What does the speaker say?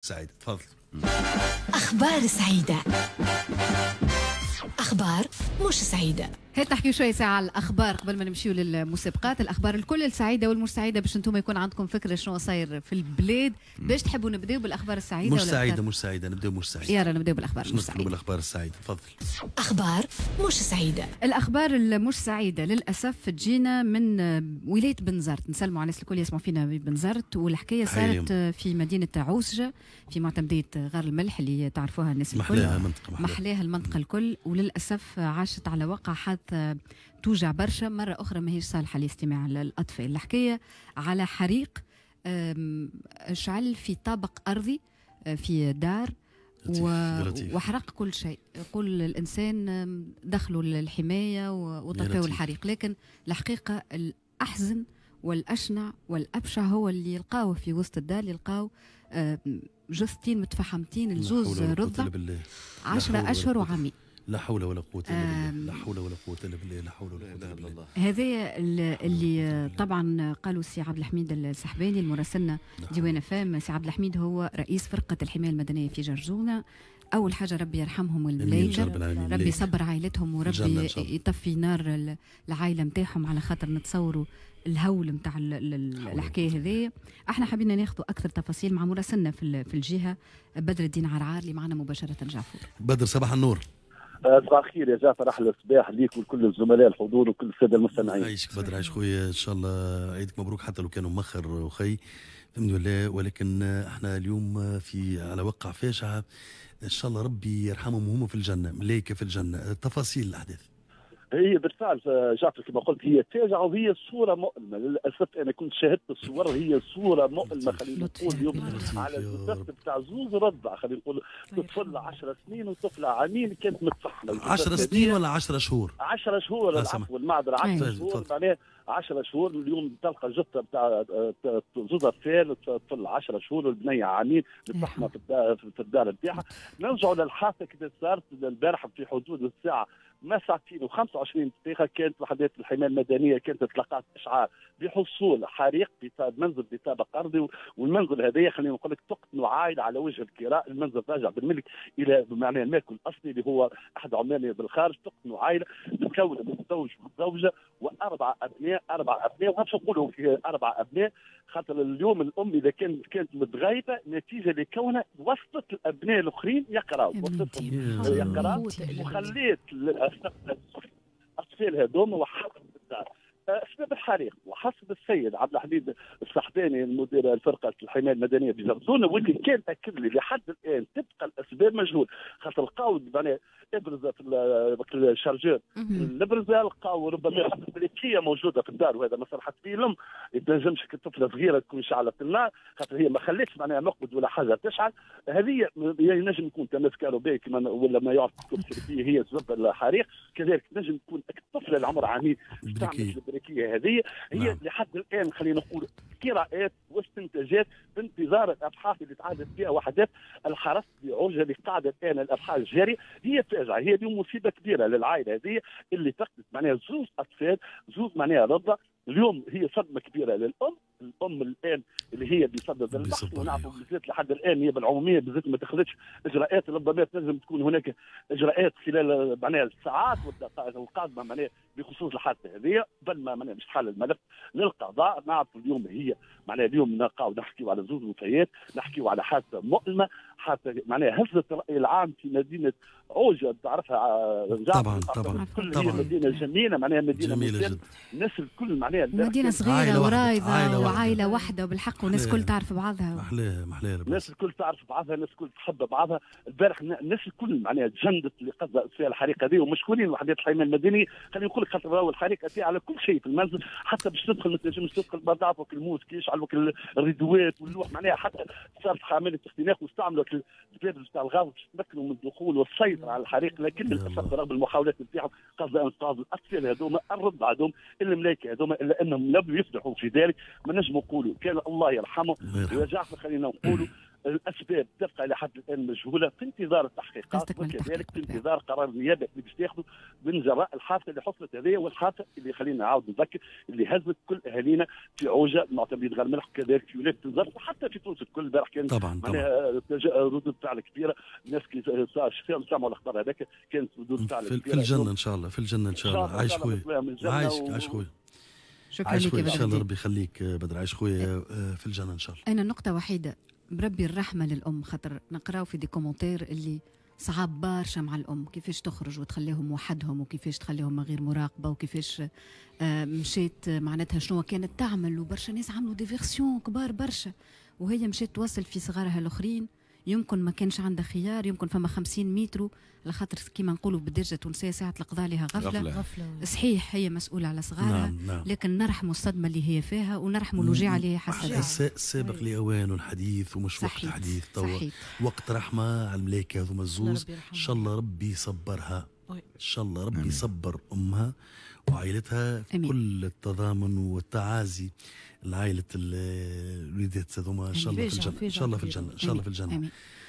سعيد تفضل. أخبار سعيدة، أخبار مش سعيدة. هات نحكيو شوية ساعة على الأخبار قبل ما نمشيو للمسابقات. الأخبار الكل السعيدة والمش سعيدة باش انتم يكون عندكم فكرة شنو صاير في البلاد. باش تحبوا نبداو بالأخبار السعيدة؟ مش سعيدة، مش سعيدة، نبداو مش سعيدة. يلا نبداو بالأخبار مش سعيدة. بالأخبار السعيدة، تفضل. أخبار مش سعيدة. الأخبار المش سعيدة للأسف تجينا من ولاية بنزرت. نسلموا على الناس الكل يسمعوا فينا ببنزرت، والحكاية صارت في مدينة عوسجة في معتمدية غار الملح اللي تعرفوها الناس الكل. محلاها منطقة، محلاها المنطقة الكل، وللأسف عاشت على وقع حادثة توجع برشا. مرة أخرى ماهيش صالحة لاستماع الأطفال. الحكاية على حريق شعل في طابق أرضي في دار وحرق كل شيء. يقول الإنسان دخلوا للحماية وطفوا الحريق، لكن الحقيقة الأحزن والأشنع والأبشع هو اللي يلقاوه في وسط الدار. يلقاو جثتين متفحمتين، الزوز رضع 10 أشهر وعامين. لا حول ولا قوة إلا بالله، لا حول ولا قوة إلا بالله، لا حول ولا قوة إلا بالله. هذا اللي طبعا قالوا السي عبد الحميد السحباني المراسلنا ديوان فام. سي عبد الحميد هو رئيس فرقة الحماية المدنية في جرزونة. أول حاجة ربي يرحمهم الملايكة، ربي يصبر عائلتهم وربي يطفي نار العائلة نتاعهم، على خاطر نتصوروا الهول نتاع الحكاية هذه. احنا حبينا ناخذ اكثر تفاصيل مع مراسلنا في الجهة بدر الدين عرعار اللي معنا مباشرة. جعفور بدر، صباح النور. صباح الخير يا جعفر، احلى صباح ليك ولكل الزملاء الحضور وكل السادة المستمعين. عايشك بدر، عايش خويا، ان شاء الله عيدك مبروك حتى لو كانوا مخر وخي، الحمد لله. ولكن احنا اليوم في على وقع فاجعة، ان شاء الله ربي يرحمهم وهم في الجنة، ملائكة في الجنة. تفاصيل الاحداث. هي بالفعل جعفر كما قلت هي فاجعة وهي صوره مؤلمة للاسف. انا كنت شاهدت الصور، هي صوره مؤلمة. خلينا نقول اليوم على الجثث بتاع زوز رضع، خلينا نقول طفل 10 سنين وطفله عامين كانت متفحمه. 10 سنين ولا 10 شهور؟ 10 شهور، العفو المعذره، 10 شهور، معناها 10 شهور. اليوم تلقى جثة بتاع زوز اطفال، طفل 10 شهور والبنية عامين متفحمه في الدار نتاعها. نرجعوا للحادثه كيف صارت البارح في حدود الساعة ما 2:25. كانت وحدات الحماية المدنية كانت تلقات اشعار بحصول حريق في منزل بطابق ارضي، والمنزل هذايا خلينا نقول لك تقتل عائلة على وجه الكراء. المنزل راجع بالملك الى معناه المالك الاصلي اللي هو احد عماله بالخارج. تقتل عائلة متكونه من زوج وزوجه واربع ابناء، 4 ابناء. وباش نقولوا في 4 ابناء خاطر اليوم الام اذا كانت متغيبه نتيجة لكونها وصلت الابناء الاخرين يقراوا، وصلتهم يقراوا وخليت الاطفال هذوما وحطت الدار. اسباب الحريق وحسب السيد عبد الحميد السحباني المدير الفرقة الحماية المدنية بجرزونه، واللي كان اكد لي لحد الان تبقى الاسباب مجهول، خاطر لقاو معناها ابرزه في ال chargeur الابرزه، لقاو ربما briquet موجودة في الدار، وهذا ما صرحت به الام. ما تنجمش طفله صغيرة تكون شعلت النار، خاطر هي ما خلتش معناها مقبض ولا حاجة تشعل. هذه ينجم يكون تماس كهربائي كما ولا ما يعرف هي سبب الحريق. كذلك تنجم تكون الطفلة العمر عامين استعملت ال briquet هذه. هي نعم. لحد الان خلينا نقول قراءات واستنتاجات بانتظار الابحاث اللي تعادت فيها وحدات الحرس بعوجه اللي قاعدة الان الابحاث الجارية. هي فاجعة، هي اليوم مصيبة كبيرة للعائلة هذه اللي فقدت معناها زوز اطفال، زوز معناها رضع. اليوم هي صدمة كبيرة للام، الام الان اللي هي بصدد البحث، ونعرفوا بالذات لحد الان هي بالعموميه بالذات ما تاخذتش اجراءات. ربما تنجم تكون هناك اجراءات خلال معناها الساعات والدقائق القادمة معناها بخصوص الحادثة هذه، قبل ما معناها باش تحل الملف للقضاء. نعرفوا اليوم هي معناها اليوم نلقاو نحكيو على زوج وفيات، نحكيو على حادثه مؤلمة، حادثه معناها هزت الراي العام في مدينة عوجه تعرفها. طبعا طبعا كل هي مدينة جميلة، معناها مدينة جميلة جدا، الناس الكل معناها مدينة صغيرة ورايضه وعائلة واحدة وبالحق، والناس الكل تعرف بعضها. محلاها محلاها، الناس الكل تعرف بعضها، الناس الكل تحب بعضها. البارح الناس الكل معناها تجندت اللي قصد فيها الحريقه هذه، ومشكورين وحدات الحماية المدنية. خلينا نقول لك خاطر راهو الحريقه هذه على كل شيء في المنزل، حتى باش تدخل ما تنجمش تدخل، ما تعرفوا الموس كي يشعل الريدوات واللوح، معناها حتى صارت عملية اختناق واستعملوا الباب نتاع الغاز باش يتمكنوا من الدخول والسيطرة على الحريق. لكن للاسف رغم المحاولات نتاعهم قصد انقاذ الاطفال هذوما الرضع هذوما الملايكه هذوما، الا انهم لم يفلحوا في ذلك. ما نجموا نقولوا كان الله يرحمه. ويا جعفر خلينا نقولوا الاسباب تبقى الى حد الان مجهولة في انتظار التحقيقات، وكذلك في انتظار قرار النيابة اللي باش تاخذه من جراء الحادثة اللي حصلت هذه، والحادثه اللي خلينا نعاود نذكر اللي هزت كل اهالينا في عوجه معتمدين غير ملح، كذلك في ولاية بنزرت وحتى في تونس الكل. البارح كان طبعا ردود فعل كبيرة، الناس كي سمعوا الاخبار هذاك كانت ردود فعل كبيرة. في الجنة ان شاء الله، في الجنة ان شاء الله. عايش خويا، عايش خويا، شكرا لك. ان شاء الله ربي يخليك بدر، عايش خويا في الجنة ان شاء الله. انا نقطة وحيده بربي الرحمة للام، خاطر نقراو في des commentaires اللي صعب برشا مع الام، كيفاش تخرج وتخليهم وحدهم، وكيفاش تخليهم من غير مراقبة، وكيفاش مشيت معناتها شنو كانت تعمل، وبرشا ناس عملوا des versions كبار برشا، وهي مشيت توصل في صغارها الاخرين. يمكن ما كانش عندها خيار، يمكن فما 50 متر، على خاطر كيما نقولوا بالدارجة التونسية ساعة القضاء لها غفلة. غفلة. صحيح هي مسؤولة على صغارها، نعم نعم. لكن نرحموا الصدمة اللي هي فيها ونرحموا الوجيعه اللي هي حاسه. السابق لاوان الحديث ومش وقت الحديث توا، وقت رحمه على الملايكه هذوما الزوز. ان شاء الله ربي يصبرها، ان شاء الله ربي يصبر امها وعائلتها. كل التضامن والتعازي لعائلة الوليدات هذوما، ان شاء الله في الجنه، ان شاء الله في الجنه، ان شاء الله في الجنه.